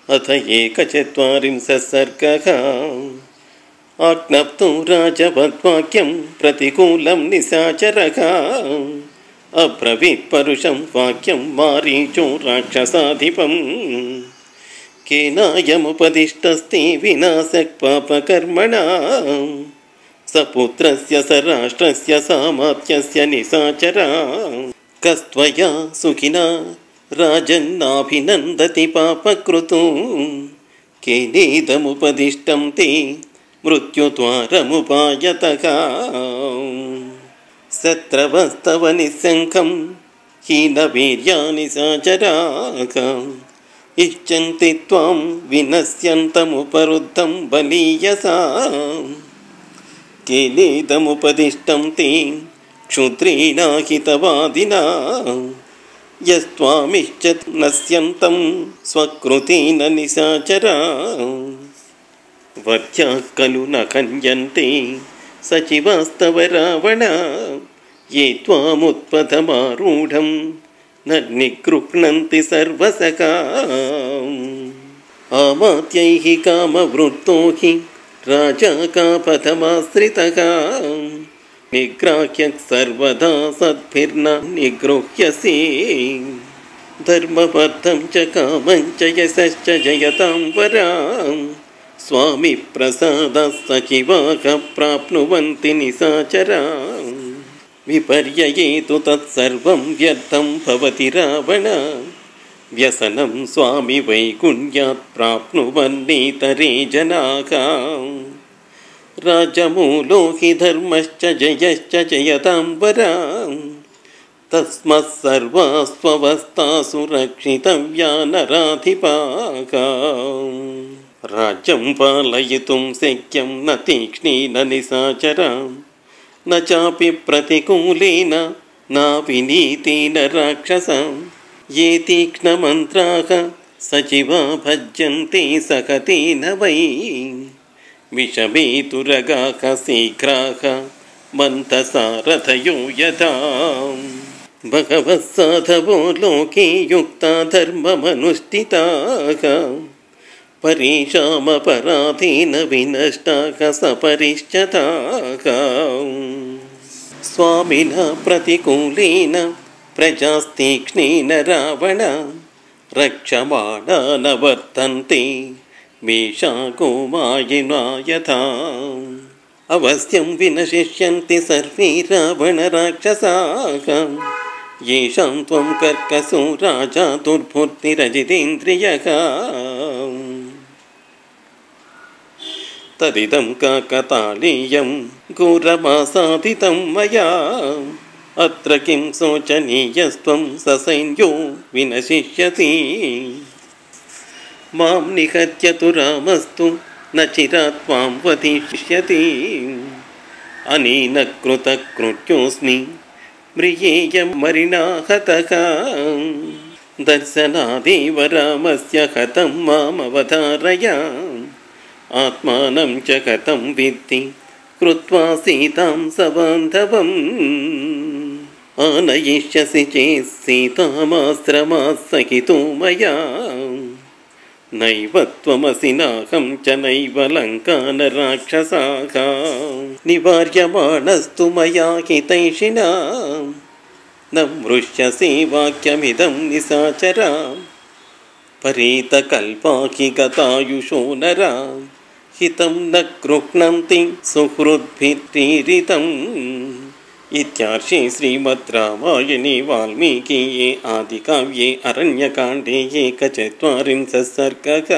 अथ एकचत्वारिंशः सर्गः। आज्ञप्तो राजवद्वाक्यं प्रतिकूलं निशाचरः। अब्रवीत् परुषं वाक्यं मारीचो राक्षसाधिपम्। केनायमुपदिष्टस्ते विनाशः पापकर्मणा। सपुत्रस्य स राष्ट्रस्य सामात्यस्य निशाचरा। कस्त्वया सुखिना राजन्नाभिनन्दति पापकृतो। केनेदमुपदिष्टं ते मृत्युद्वारमुपायतः। शत्रवस्तव निःशङ्कं हीनवीर्याणि निशाचराः। इच्छन्ति त्वां विनश्यन्तमुपरुद्धं बलीयसा। केनेदमुपदिष्टं ते क्षुद्रेणा हितवादिना। यस्त्वामिच्छत् नश्यन्तं स्वकृतेन निशाचरा। वर्त्याः खलु न खन्यन्ते सचिवास्तव रावण। ये त्वामुत्पथमारूढं न निगृह्णन्ति सर्वसखा। आमात्यैः कामवृत्तो हि राजा कापथमाश्रितः। निग्राह्य सर्वदा सद्भिर्न निगृह्यसि। धर्मबद्धं च कामं च यशश्च जयतां वरां। स्वामी प्रसादः सचिवाः प्राप्नुवन्ति निशाचरा। विपर्यये तु तत्सर्वं व्यर्थं भवति रावण। व्यसनं स्वामी वैकुण्यात् प्राप्नुवन्नेतरे जनाः। राजमूलो हि धर्मश्च जयश्च जयतां वरां। तस्मात् सर्वास्वस्थासु रक्षितव्या नराधिपाः। राज्यं पालयितुं शक्यं न तीक्ष्णेन निशाचरा। न चापि प्रतिकूलेन नाविनीतेन राक्षसां। ये तीक्ष्णमन्त्राः सचिवा भज्यन्ते सकतेन वै। विषमे तुरगाः शीघ्राः मन्दसारथयो यथा। भगवः साधवो लोके युक्ता धर्ममनुष्ठिताः। परेषामपराधेन विनष्टाः सपरिष्यताः। स्वामिना प्रतिकूलेन प्रजास्तीक्ष्णेन रावण। रक्षमाणा न वर्तन्ते वेशाको मायिना यथा। अवश्यं विनशिष्यन्ति सर्वे रावणराक्षसाः। येषां त्वं कर्कसो राजा दुर्बुद्धिरजितेन्द्रियः। तदिदं काकतालीयं घोरमासादितं मया। अत्र किं शोचनीयस्त्वं ससैन्यो विनशिष्यसि। मां निहत्य तु रामस्तु न चिरात् त्वां वधिष्यति। अनेन कृतकृत्योऽस्मि म्रियेयमरिणा हतः। दर्शनादेव रामस्य हतं मामवधारय। आत्मानं च कथं विद्धि कृत्वा सीतां सबान्धवम्। आनयिष्यसि चेत् सीतामाश्रमात् सहितो मया। नैव त्वमसि नाहं च नैव लङ्कानराक्षसाः। निवार्यमाणस्तु मया हितैषिणा। न मृष्यसि वाक्यमिदं निशाचरा। परेतकल्पाहि गतायुषो नरा। हितं न गृह्णन्ति सुहृद्भिर्प्रीरितम्। इत्यार्षे श्रीमद् रामायणे वाल्मीकीये आदिकाव्ये अरण्यकाण्डे एकचत्वारिंशः सर्गः।